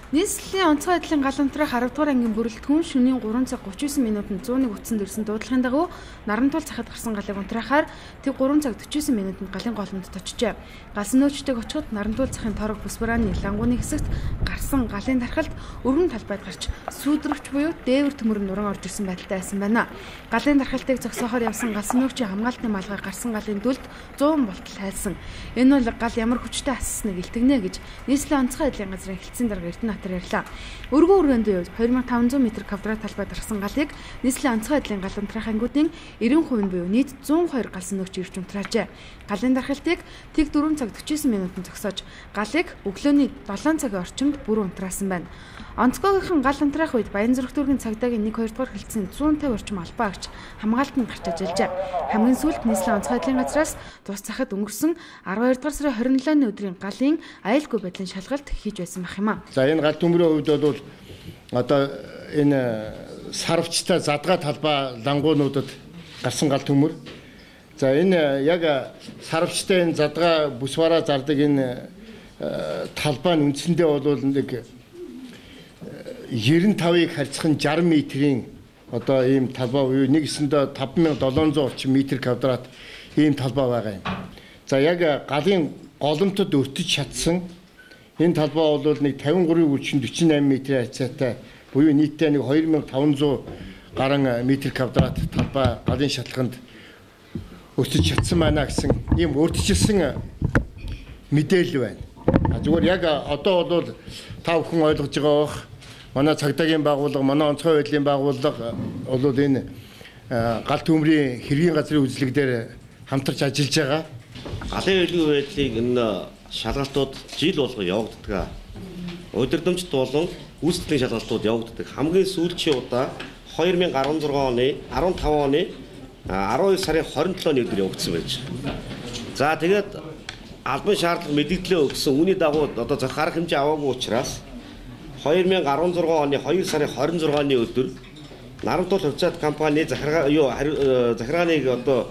Нийслэлийн онцгой байдлын гал унтраах 10 дугаар ангийн бүрэлдэхүүн шөнийн 3 цаг 39 минутанд 101 утсанд ирсэн дуудлагын дагуу Нарантуул цахад гарсан галыг унтраахаар тэг 3 цаг 49 минутанд галын голомд точжээ. Галсан нөөцтэйг очиход Нарантуул цахын торог бүс барааны лангууны хэсэгт гарсан галын тархалд өргөн талбайд гарч сүйдрэгч буюу дээвэр төмөр нуран орж ирсэн байдалтай байсан байна. Галын тархалтыг зогсоохоор явсан галсан нөөцийн хамгаалтын малгай гарсан галын дүлд 100 болтол хайлсан. Энэ бол гал ямар хүчтэй ассныг илтгэнэ гэж нийслэлийн онцгой байдлын газрын хэлтсийн дарга Эрдэнэ ярьлаа. Өргөн үргэндийн үед 2500 м2 талбайд гарсан галыг нийслэлийн онцгой байдлын гал унтраах ангиудын 90% буюу нийт 102 галсан нөөц ирж унтраажээ. Галын дархалтыг тэг 4 цаг 49 минутанд зогсоож галыг өглөөний 7 цагийн орчимд бүр унтраасан байна. Онцгойгийнхан гал унтраах үед Баянзүрх дүүргийн цагдаагийн 1-2 дугаар хэлтсийн 150 орчим албаа агч хамгаалтанд гарч ажиллажээ. Хамгийн сүүлд нийслэлийн онцгой байдлын газраас тус захад өнгөрсөн 12 дугаар сарын 27-ны өдрийн галын аюулгүй байдлын шалгалт хийж байсан байх юм а. За энэ гал төмрийн хувьд бол одоо энэ сарвчтай задгаа талбай лангуунуудад гарсан гал төмөр. За энэ яг сарвчтай энэ задгаа бүсвараа зардаг энэ талбай нь үндсэндээ бол нэг 95-ыг харьцах нь 60 м-ийн одоо ийм талбай буюу нэгэсэндээ 5700 орчим метр квадрат ийм талбай байгаа юм. За яг галын голомтод өртөж чадсан энэ талбай бол нэг 53-48 м-ийн хязгаартай буюу нийтдээ нэг 2500 гаруй метр квадрат талбай галын шалханд өртөж чадсан байна гэсэн ийм өртөжсэн мэдээлэл байна. Зүгээр яг одоо бол та бүхэн ойлгож байгаа бох. Манай цагдаагийн байгууллага, манай онцгой байдлын байгууллага бол энэ гал төмрийн хэргийн газрын үзлэг дээр хамтарч ажиллаж байгаа. Галын аюулгүй байдлыг энэ шалгалтууд жил болго явагддаг. Удирдамжт болон гүйцэтгэлийн шалгалтууд явагддаг. Хамгийн сүүлчийн удаа 2016 оны 15 оны 12 сарын 27-ны өдөр явагдсан байж. За тэгээд албан шаардлага мэдээлэлээ өгсөн үүний дагуу одоо захаарах хэмжээ аваагүй учраас 2016 оны 2 сарын 26-ны өдөр Нарантуул хувьцаат компани захиргааныг одоо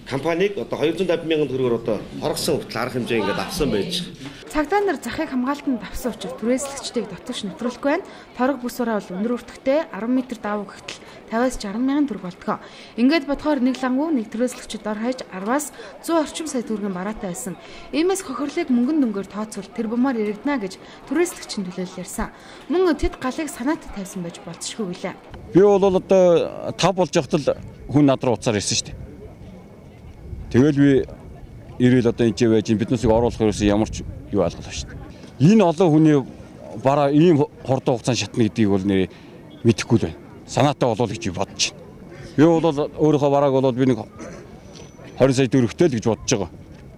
компаниг одоо 250 мянган төгрөгөөр одоо хоргосон хүртэл арга хэмжээ ингээд авсан байж. Цагдаа нар захыг хамгаалтанд авсан учраас түрээслэгчдийг дотогш нэвтрүүлэхгүй байна. Торог бүс бараа бол өндөр өртөгтэй 10 м давуу гэтэл 50-60 мянган төгрөг болтгоо. Ингээд бодохоор нэг лангуу нэг түрээслэгчд дор хаяж 10-аас 100 орчим сая төгрөгийн бараатай байсан. Иймээс хохирлыг мөнгөн дөнгөөр тооцвол тэр бумаар яригдана гэж түрээслэгчийн төлөөлөл ярьсан. Мөн тэд галыг санаатад тавьсан байж болцшгүй гэлээ. Би бол одоо 5 болж явахтал хүн над руу уцаар ирсэн шүү дээ. Тэгэл би ирэл одоо энэ байж биднээс оруулах ерөөсөө ямар ч юу алгалаа шүү дээ. Энэ олон хүний бараа ийм хурдан хугацаанд шатна гэдгийг бол нэр мэдэхгүй л байна. Санаатай болов гэж бодож байна. Би бол өөрийнхөө барааг бол би нэг 20 сая төгрөгтэй л гэж бодож байгаа.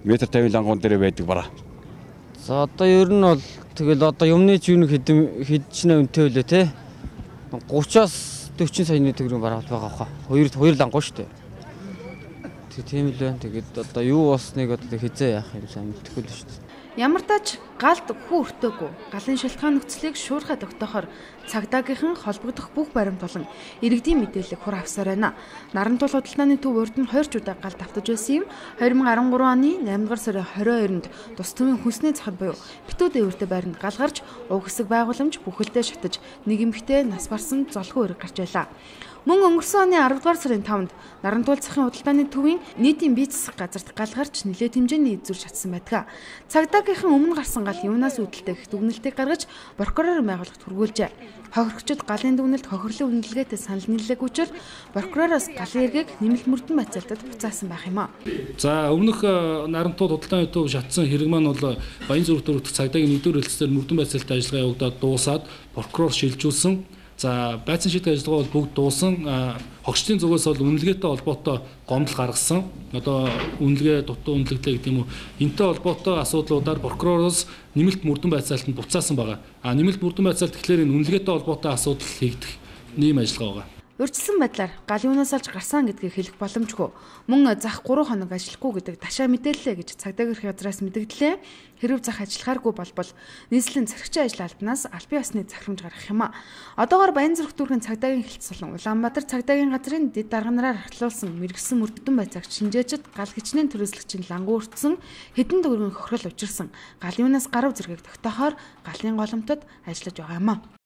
Метр 50 лангуун дээр байдаг бараа. За одоо ер нь бол тэгэл одоо юмны ч юу нэг хэдчнээ үнэтэй үлээ те. 30-аас 40 саяны төгрөгийн бараа байгаа хаа. Хоёр лангуун шүү дээ. Тийм л байна. Тэгээд одоо юу болсныг одоо хизээ яах юм сайн мэдэхгүй л шүү дээ. Ямар тач галд хүү өртөөгүй галын шалтгаан нөхцөлийг шуурхай тогтоохоор цагдаагийнхан холбогдох бүх баримт болон иргэдийн мэдээллийг хур авсаар байна. Нарантуул худалдааны төв урд нь 20 удаа гал давтаж байсан юм. 2013 оны 8 дугаар сарын 22-нд тус төвийн хүнсний цахад буюу Битүү дээвэртэй байранд гал гарч уг хэсэг байгууламж бүхэлдээ шатаж нэг эмэгтэй нас барсан золгүй өрг гарч байлаа. Мөн өнгөрсөн оны 10 дугаар сарын 5-нд Нарантуул цахын худалдааны төвийн нийтийн бие засах газарт гал гарч нэлээд хэмжээний эзүр шатсан байдаг. Цагдаагийнхан өмнө гарсан гал юунаас үүдэлтэй гэх дүгнэлтийг гаргаж прокурорын байгууллагт хүргүүлжээ. Хохирогчид галын дүгнэлт хохирлын үнэлгээтэй санал нийллээгүй учраас прокуророос галын эргийг нэмэлт мөрдөн байцаалтад буцаасан байх юм а. За өмнөх Нарантуул худалдааны төв шатсан хэрэг маань бол Баянзүрх дүүрэг цагдаагийн 1-р хэлтсээр мөрдөн байцаалтад ажиллагаа явагдаад дуусаад прокурор шилжүүлсэн. За байцаан шийдэх ажиллагаа бол бүгд дуусан. Хогчдын зүгээс бол үнэлгээтэй холбоотой гомдол гаргасан. Одоо үнэлгээ дутуу үнэлгээтэй гэдэг юм уу? Энтэй холбоотой асуудлуудаар прокуророос нэмэлт мөрдөн байцаалтанд буцаасан байгаа. Нэмэлт мөрдөн байцаалт гэхлээр энэ үнэлгээтэй холбоотой асуудал хийгдэх нэм ажиллагаа байгаа. Урьдчилсан байдлаар галын үнээс олж гарсан гэдгийг хэлэх боломжгүй. Мөн зах 3 хоног ажиллахгүй гэдэг ташаа мэдээллээ гэж цагдаа гэрх газраас мэдгдлээ. Хэрв зах ажиллахааргүй болбол нийслэлийн цэрэгчийн ажил албанаас албан ёсны захирамж гаргах юм а. Одоогоор Баянзүрх дүүргийн цагдаагийн хэлтс болон Улаанбаатар цагдаагийн газрын дэд дарганараар ахлуулсан мэрэгсэн мөрдөн байцаагч шинжээчд гал хичнээн төрөслөгчийн лангуу өртсөн хэдэн төгрөгийн хохирол учирсан галын үнээс гарав зэргийг тогтоохоор галын голомтод ажиллаж байгаа юм а.